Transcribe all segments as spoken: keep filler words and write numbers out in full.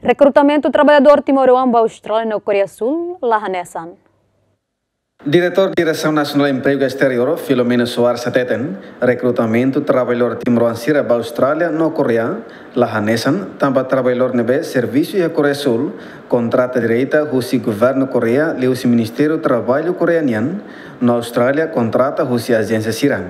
Rekrutamentu traballadór timoroan ba Austrália no Koreia Súl la hanesan. Diretór Diresaun Nasionál Empregu Esteriór, Filomeno Soares hateten, rekrutamentu traballadór timoroan sira ba Austrália no Koreia la hanesan, tanba traballadór ne'ebé servisu iha Koreia Súl kontrata direta husi governu Koreia liuhusi Ministériu Traballu Koreia nian, no Austrália kontrata husi ajénsia sira.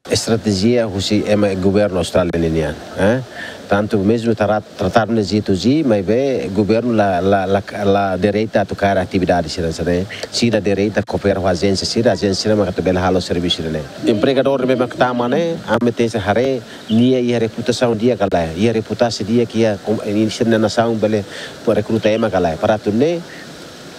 Estratéjia husi ema governu Austrália ninian, eh? Tantu mezmu tara-, tratadu ne'e G to G, maibé governu la, la, la, la direta atu kaer atividade sira-ne'e. Sira direta koopera ho ajénsia sira, ajénsia sira maka atu bele halo servisu sira-ne'e. Empregadór ne'ebé mak tama ne'e, ami tenke haree nia iha reputasaun di'ak ka lae, iha reputasaun di'ak iha kom-, iha sira-nia nasaun bele rekruta ema ka lae. Para atu nune'e,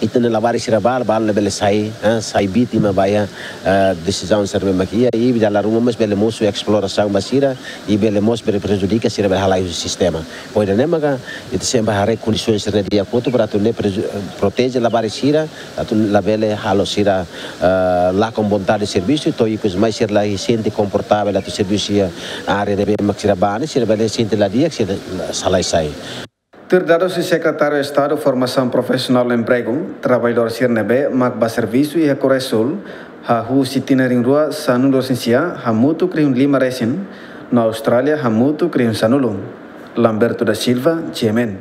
ita-nia labarik sira balu, balu labele sai, eh, sai vítima ba iha, eh, desizaun sira ne'ebé mak iha, i dala ruma mós bele mosu esplorasaun ba sira, i bele mós bele prejudika sira bele halai husi sistema. Pois ida-ne'e maka, ita sempre haree kondisaun sira-ne'e di'ak hotu para atu nune'e preju-, eh, proteje labarik sira, atu labele halo sira, eh, lakon vontade servisu, to'o ikus mai sira la sente konfortavel atu servisu iha área ne'ebé mak sira bá ne'e, sira bele sente la di'ak, sira la sai sai. Tuir dadus husi Sekretáriu Estadu Formasaun Profisionál no Empregu, traballadór sira ne'ebé mak bá servisu iha Koreia Súl, hahú husi tinan rihun rua sanulu-resin-sia, hamutuk rihun lima resin, no Austrália hamutuk rihun sanulu. Lamberto da Silva, G M N.